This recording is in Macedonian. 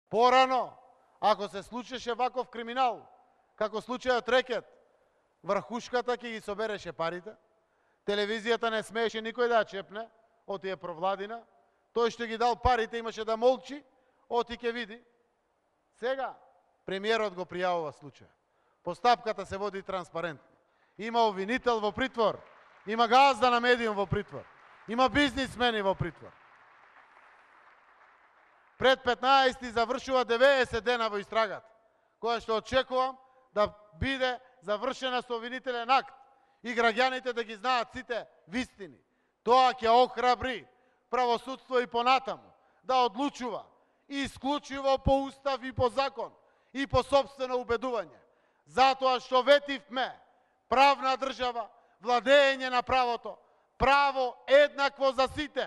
Порано, ако се случеше ваков криминал, како случајот рекет, врхушката ќе ги собереше парите, телевизијата не смееше никој да ја чепне, оти е провладина, тој што ги дал парите имаше да молчи, оти ќе види. Сега, премиерот го пријавува случај. Постапката се води транспарентно. Има обвинител во притвор, има газда на медиум во притвор, има бизнисмени во притвор. Пред 15 завршува 90 дена во истрагата, која што очекувам да биде завршена со обвинителен акт и граѓаните да ги знаат сите вистини. Тоа ќе охрабри правосудство и понатаму да одлучува исклучиво по устав и по закон и по сопствено убедување. Затоа што ветивме правна држава, владење на правото, право еднакво за сите,